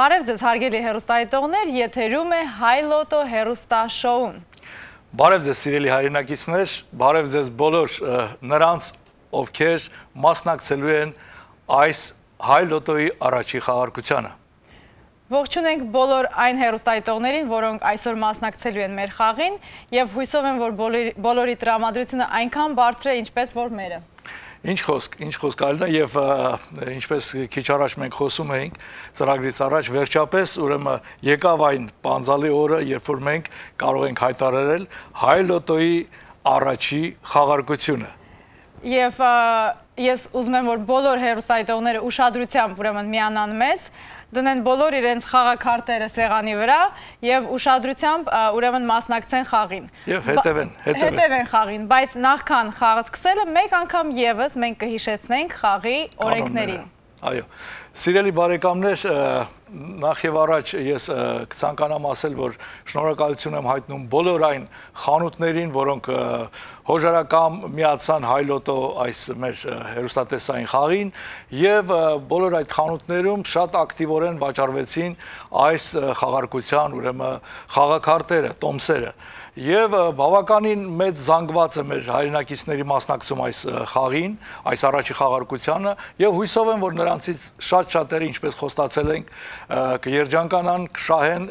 Բարև ձեզ հարգելի հեռուստադիտողներ, եթերում է Հայ լոտո հեռուստաշոուն։ Բարև ձեզ սիրելի հայրենակիցներ, բարև ձեզ բոլոր նրանց, ովքեր մասնակցելու են այս Հայ լոտոյի առաջի խաղարկությանը։ Ողջունենք բոլոր այն հեռուստադիտողներին, որոնք այսօր մասնակցելու են մեր խաղին, եւ հույսով եմ, որ բոլորի տրամադրությունը այնքան բարձր է, ինչպես որ մերը։ Ինչ խոսք Ալինա, եւ ինչպես քիչ առաջ մենք խոսում էինք ծրագրից առաջ, վերջապես ուրեմն եկավ այն պանձալի օրը, երբ որ մենք կարող ենք հայտարարել Հայ լոտոյի առաջի խաղարկությունը։ Եվ ես ուզում եմ, որ բոլոր հեռուստադիտողները ուշադրությամբ ուրեմն միանան մեզ, դնեն բոլոր իրենց խաղաքարտերը սեղանի վրա եւ ուշադրությամբ ուրեմն մասնակցեն խաղին։ Եվ հետևեն խաղին, բայց նախքան խաղը սկսելը մեկ անգամ եւս մենք կհիշեցնենք խաղի օրենքներին։ Այո, սիրելի բարեկամներ, նախ եւ առաջ ես կցանկանամ ասել, որ շնորհակալություն եմ հայտնում բոլոր այն խանութներին, որոնք հոժարակամ միացան Հայ լոտո այս մեր հեռուստատեսային խաղին եւ բոլոր այդ խանութներում շատ ակտիվորեն վաճառվեցին այս խաղարկության ուրեմն խաղաքարտերը, տոմսերը եւ բավականին մեծ զանգված է մեր հայրենակիցների մասնակցում այս խաղին, այս առաջի խաղարկությանը եւ հույսով եմ, որ նրանցից շատ-շատերը, ինչպես խոստացել ենք, կերջանկանան, կշահեն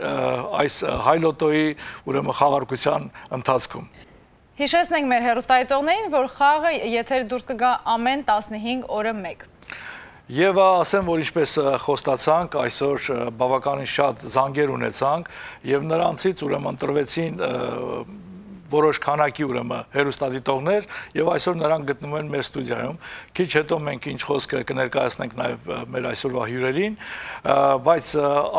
այս Հայ լոտոյի ուրեմն խաղարկության ընթացքում։ Հիշեցնենք մեր հեռուստադիտողներին, որ խաղը եթեր դուրս կգա ամեն 15 օրը 1։ Եվ ասեմ, որ ինչպես խոստացանք, այսօր բավականին շատ զանգեր ունեցանք եւ նրանցից ուրեմն ընտրվեցին որոշ քանակի ուրեմն հեռուստադիտողներ եւ այսօր նրանք գտնվում են մեր ստուդիայում։ Քիչ հետո մենք ինչ խոսք կներկայացնենք նաեւ մեր այսօրվա հյուրերին, բայց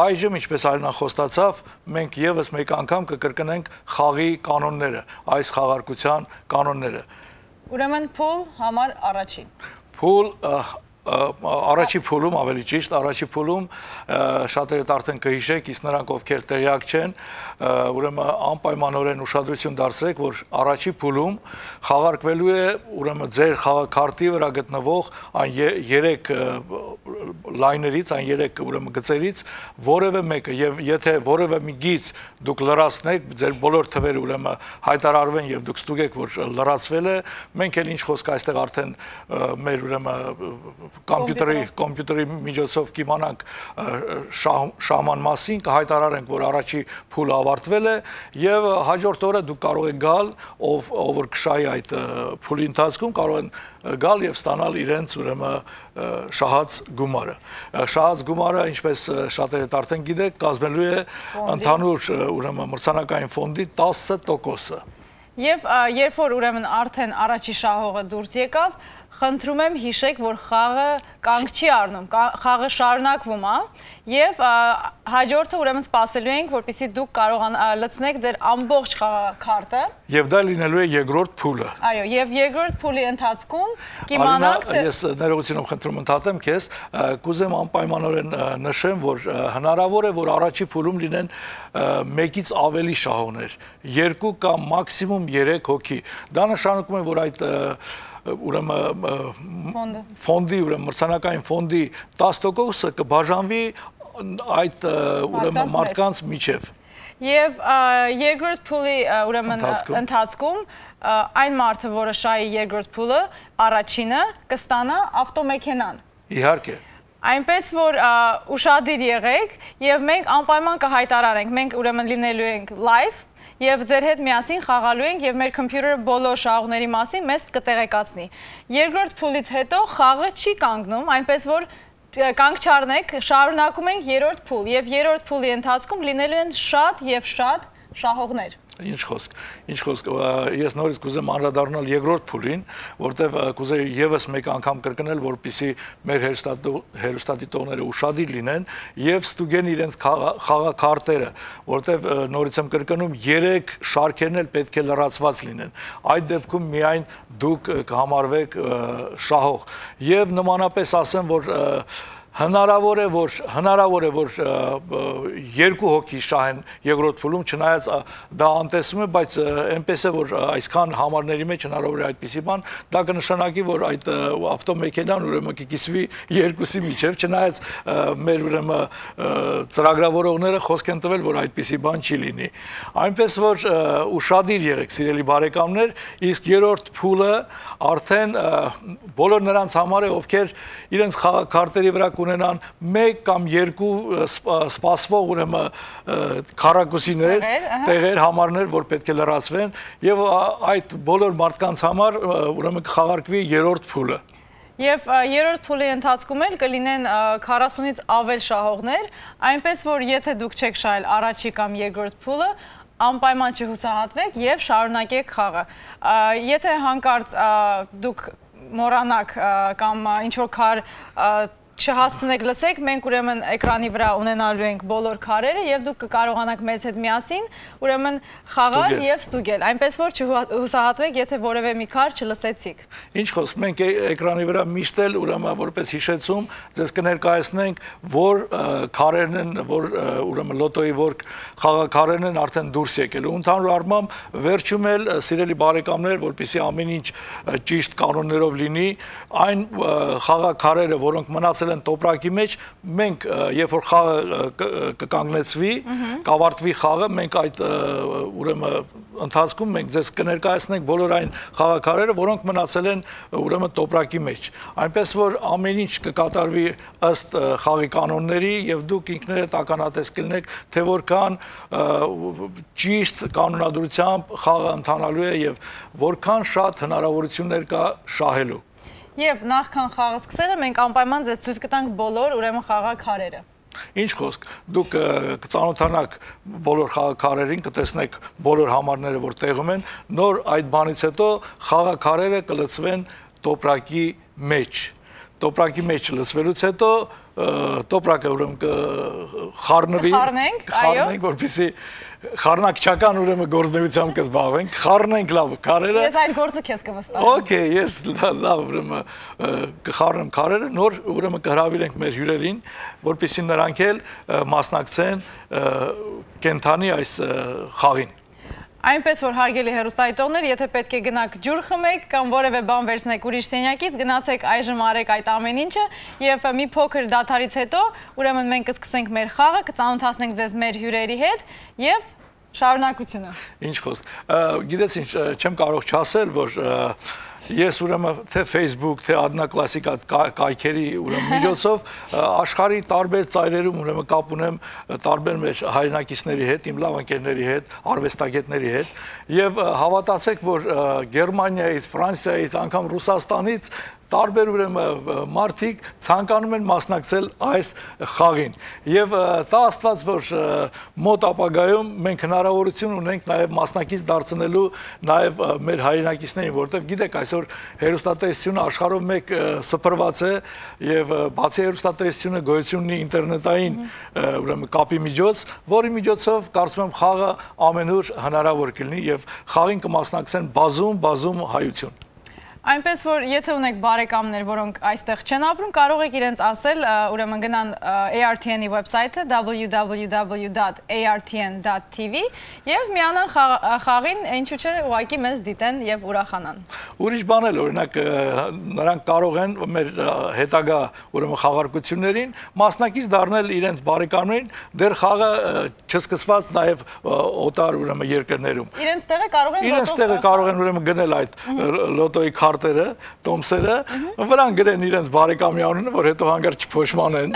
այժմ, ինչպես Արինան խոստացավ, մենք եւս մեկ անգամ կկրկնենք խաղի կանոնները, այս խաղարկության կանոնները։ Ուրեմն փուլ համար առաջին։ Փուլ Առաջի փուլում, ավելի ճիշտ, առաջի փուլում շատերդ արդեն կհիշեք, իսկ նրանք ովքեր տեղյակ չեն, ուրեմն անպայմանորեն ուշադրություն դարձրեք, որ առաջի փուլում խաղարկվելու է ուրեմն ձեր խաղաքարտի վրա գտնվող այն 3 լայներից, այն 3 ուրեմն գծերից որևէ մեկը, եւ եթե որևէ մի գիծ դուք լրացնեք, ձեր բոլոր թվերը ուրեմն հայտարարվեն եւ դուք ստուգեք, որ լրացվել է, մենք էլ ինչ խոսք այստեղ արդեն մեր ուրեմն կոմպյուտերի միջոցով կիմանանք շահման մասին, կհայտարարենք, որ առաջի փուլը ավարտվել է եւ հաջորդ օրը դուք կարող եք գալ, ով որ կշահի այդ փուլի ընթացքում կարող են գալ եւ ստանալ իրենց ուրեմն շահած գումարը։ Շահած գումարը, ինչպես շատերդ արդեն գիտեք, կազմելու է ընդհանուր ուրեմն մրցանակային ֆոնդի 10%-ը։ Եվ երբ որ ուրեմն արդեն առաջի շահողը դուրս եկավ, խնդրում եմ հիշեք, որ խաղը կանգ չի առնում, խաղը շարունակվում է եւ հաջորդը ուրեմն սպասելու ենք, որպեսզի դուք կարողանաք լցնեք ձեր ամբողջ խաղաքարտը։ Եվ դա լինելու է երկրորդ փուլը։ Այո, եւ երկրորդ փուլի ընթացքում կիմանանք, թե ես ներողությունով խնդրում ընդհատեմ քեզ, կուզեմ անպայմանորեն նշեմ, որ հնարավոր է, որ առաջի փուլում լինեն մեկից ավելի շահողներ, 2 կամ մաքսիմում 3 հոգի։ Դա նշանակում է, որ այդ ուրեմն ֆոնդի, ուրեմն մրցանակային ֆոնդի 10%-ը կբաժանվի այդ ուրեմն մարդկանց միջև։ Եվ երկրորդ փուլի ուրեմն ընթացքում այն մարդը, որը շահի երկրորդ փուլը, առաջինը կստանա ավտոմեքենան։ Իհարկե։ Այնպես որ ուշադիր եղեք եւ մենք անպայման կհայտարարենք, մենք ուրեմն լինելու ենք live եւ ձեր հետ միասին խաղալու ենք եւ մեր կոմպյուտերը բոլոր շահողների մասին մեզ կտեղեկացնի։ Երկրորդ փուլից հետո խաղը չի կանգնում, այնպես որ կանգ չառնեք, շարունակում ենք երրորդ փուլ եւ երրորդ փուլի ընթացքում լինելու են շատ եւ շատ շահողներ։ Ինչ խոսք, ես նորից կուզեմ անդրադառնալ երկրորդ փուլին, որտեղ կուզեի եւս մեկ անգամ կրկնել, որպեսզի մեր հեռուստադիտողները ուշադիր լինեն եւ ստուգեն իրենց խաղաքարտերը, որտեղ նորից եմ կրկնում 3 շարքերն էլ պետք է լրացված լինեն։ Այդ դեպքում միայն դուք կհամարվեք շահող։ Եվ նմանապես ասեմ, որ հնարավոր է որ երկու հոգի շահեն երկրորդ փուլում, չնայած դա անտեսվում է, բայց այնպես է որ այսքան համարների մեջ հնարավոր է այդպիսի բան, դա կնշանակի որ այդ ավտոմեքենան ուրեմն կկիսվի երկուսի միջև, չնայած մեր ուրեմն ծրագրավորողները խոսք են տվել որ այդպիսի բան չի լինի։ Այնպես որ ուշադիր եղեք սիրելի բարեկամներ, իսկ երրորդ փուլը արդեն բոլոր նրանց համար է, ովքեր իրենց քարտերի վրա կունենան 1 կամ 2 սպասվող ուրեմն քառակուսիներ, տեղեր, համարներ, որ պետք է լրացվեն, եւ այդ բոլոր մարդկանց համար ուրեմն կխաղարկվի երրորդ փուլը։ Եվ երրորդ փուլի ընթացքում էլ կլինեն 40-ից ավել շահողներ, այնպես որ եթե դուք չեք շահել առաջի կամ երկրորդ փուլը, անպայման չհուսահատվեք եւ շարունակեք խաղը։ Եթե հանկարծ դուք մոռանաք կամ ինչ-որ քար չհասցնեք լսեք, մենք ուրեմն էկրանի վրա ունենալու ենք բոլոր քարերը եւ դուք կկարողանաք մեզ հետ միասին ուրեմն խաղալ եւ ստուգել, այնպես որ չհուսահատվեք, եթե որևէ մի քար չլսեցիք։ Ինչ խոսք, մենք էկրանի վրա միշտ էլ ուրեմն որպես հիշեցում ձեզ կներկայացնենք, որ քարերն են, որ ուրեմն լոտոյի որ խաղաքարերն են արդեն դուրս եկել։ Ու ընդհանուր առմամբ վերջում էլ սիրելի բարեկամներ, որպեսզի ամեն ինչ ճիշտ կանոններով լինի, այն խաղաքարերը, որոնք մնացել են տոպրակի մեջ, մենք երբ որ խաղը կկանգնեցվի, կավարտվի խաղը, մենք այդ ուրեմն ընթացքում մենք ձեզ կներկայացնենք բոլոր այն խաղաքարերը, որոնք մնացել են ուրեմն տոպրակի մեջ։ Այնպես որ ամեն ինչ կկատարվի ըստ խաղի կանոնների եւ դուք ինքներդ ականատես կլինեք, թե որքան ճիշտ կանոնադրությամբ խաղը ընթանալու է եւ որքան շատ հնարավորություններ կա շահելու։ Եվ նախքան խաղը սկսելը մենք անպայման ձեզ ցույց կտանք բոլոր ուրեմն խաղաքարերը։ Ինչ խոսք, դուք կծանոթանաք բոլոր խաղաքարերին, կտեսնեք բոլոր համարները, որ տեղում են, նոր այդ բանից հետո խաղաքարերը կլցվեն տոպրակի մեջ։ Տոպրակի մեջ լցվելուց հետո տոպրակը ուրեմն կխառնենք, որպեսզի խառնակչական ուրեմն գործնեությամբ կզբաղվենք, խառնենք լավ քարերը։ Ես այդ գործը քեզ կվստահեմ։ Okay, ես լավ ուրեմն կխառնեմ քարերը, նոր ուրեմն կհրավիրենք մեր հյուրերին, որպեսզի նրանք էլ մասնակցեն կենթանի այս խաղին։ Այնպես որ հարգելի հեռուստադիտողներ, եթե պետք է գնաք ջուր խմեք կամ որևէ բան վերցնեք ուրիշ սենյակից, գնացեք այժմ արեք այդ ամեն ինչը եւ մի փոքր դադարից հետո ուրեմն մենք կսկսենք մեր խաղը, կծանոթացնենք ձեզ մեր հյուրերի հետ եւ շարունակությունը։ Ինչ խոսք, գիտես ինչ, չեմ կարող չասել, որ ես ուրեմն թե Facebook, թե Adnaclassica կայքերի ուրեմն միջոցով աշխարհի տարբեր ծայրերում ուրեմն կապ ունեմ տարբեր մեր հայրենակիցների հետ, իմ լավ ընկերների հետ, արվեստագետների հետ եւ հավատացեք, որ Գերմանիայից, Ֆրանսիայից, անգամ Ռուսաստանից տարբեր ուրեմն մարդիկ ցանկանում են մասնակցել այս խաղին եւ տա Աստված որ մոտ ապագայում մենք հնարավորություն ունենք նաեւ մասնակից դարձնելու նաեւ մեր հայրենակիցներին, որովհետեւ գիտեք այսօր հեռուստատեսությունը աշխարհով մեկ սփռված է եւ բացի հեռուստատեսությունը գոյություն ունի ինտերնետային ուրեմն կապի միջոց, որի միջոցով կարծում եմ խաղը ամենուր հնարավոր կլինի եւ խաղին կմասնակցեն բազում հայություն։ Այնպես որ եթե ունեք բարեկամներ, որոնք այստեղ չեն ապրում, կարող եք իրենց ասել, ուրեմն գնան ARTN-ի վեբսայթը www.artn.tv եւ միանան խաղին, ինչու՞ չէ, ուղղակի մեզ դիտեն եւ ուրախանան։ Ուրիշ բան էլ օրինակ նրանք կարող են մեր հետագա ուրեմն խաղարկություններին մասնակից դառնել իրենց բարեկամներին, դեռ խաղը չսկսված նաեւ օտար ուրեմն երկրներում։ Իրենց տեղը կարող են ուրեմն գնել այդ լոտոյի քարտերը, տոմսերը, վրան գրեն իրենց բարեկամի անունը, որ հետո հանգարց չփոշմանեն,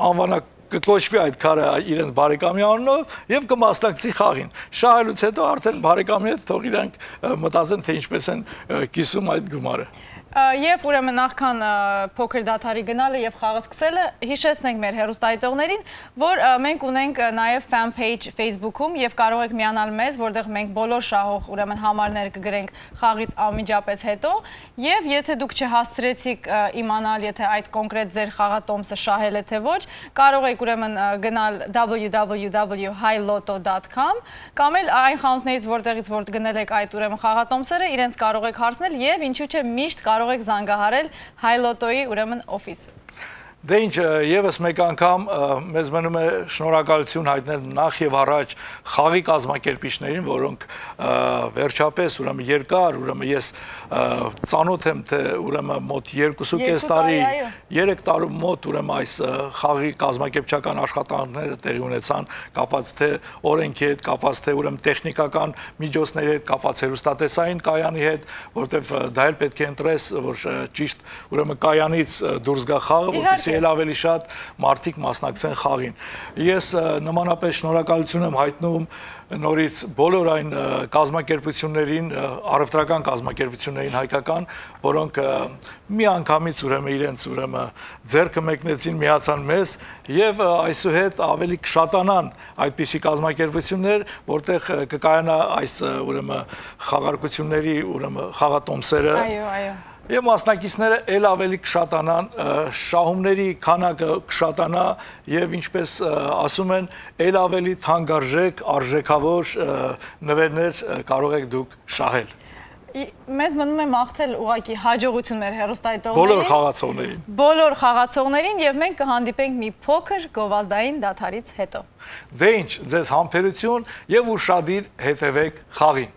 անվանակ կկոչվի այդ քարը իրենց բարեկամի անունով եւ կմասնակցի խաղին։ Շահելուց հետո արդեն բարեկամի հետ թող իրանք մտածեն, թե ինչպես են կիսում այդ գումարը։ Եվ ուրեմն նախքան փոքր դադարի գնալը եւ խաղը սկսելը հիշեցնենք մեր հեռուստադիտողներին, որ մենք ունենք նաեւ fan page Facebook-ում եւ կարող եք միանալ մեզ, որտեղ մենք բոլոր շահող ուրեմն համարներ կգրենք խաղից անմիջապես հետո եւ եթե դուք չհասցրեցիք իմանալ, եթե այդ կոնկրետ ձեր խաղատոմսը շահել է թե ոչ, կարող եք ուրեմն գնալ www.highlotto.com կամ էլ այն խանութներից, որտեղից որ գնել եք այդ ուրեմն խաղատոմսերը, իրենց կարող եք հարցնել եւ ինչու՞ չէ միշտ կարող եք զանգահարել High Lotto-ի ուրեմն օֆիս։ Դե ինչ, եւս մեկ անգամ մեզ մնում է շնորհակալություն հայտնել նախ եւ առաջ խաղի կազմակերպիչներին, որոնք վերջապես ուրեմն երկար, ուրեմն ես ծանոթ եմ, թե ուրեմն մոտ 2.5 տարի, 3 տարի մոտ ուրեմն այս խաղի կազմակերպչական աշխատանքները տեղի ունեցան, կապված թե օրենքի հետ, կապված թե ուրեմն տեխնիկական միջոցների հետ, կապված հեռուստատեսային կայանի հետ, որտեվ դա էլ պետք է ընտրես, որ ճիշտ ուրեմն կայանից դուրս գա խաղը, որպեսզի էլ ավելի շատ մարդիկ մասնակցեն խաղին։ Ես նմանապես շնորհակալություն եմ հայտնում նորից բոլոր այն կազմակերպություններին, առևտրական կազմակերպություններին հայկական, որոնք միանգամից ուրեմն իրենց ուրեմն ձեռքը մեկնեցին, միացան մեզ եւ այսուհետ ավելի կշատանան այդպիսի կազմակերպություններ, որտեղ կկայանա այս ուրեմն խաղարկությունների ուրեմն խաղատոմսերը։ Այո։ Եվ մասնակիցները էլ ավելի կշատանան, շահումների քանակը կշատանա եւ ինչպես ասում են, էլ ավելի թանկարժեք, արժեքավոր նվերներ կարող եք դուք շահել։ Մեզ մնում է մաղթել ուղղակի հաջողություն մեր հեռուստադիտողներին, բոլոր խաղացողներին եւ մենք կհանդիպենք մի փոքր գովազդային դադարից հետո։ Դե ինչ, ձեզ համբերություն եւ ուշադիր հետևեք խաղին։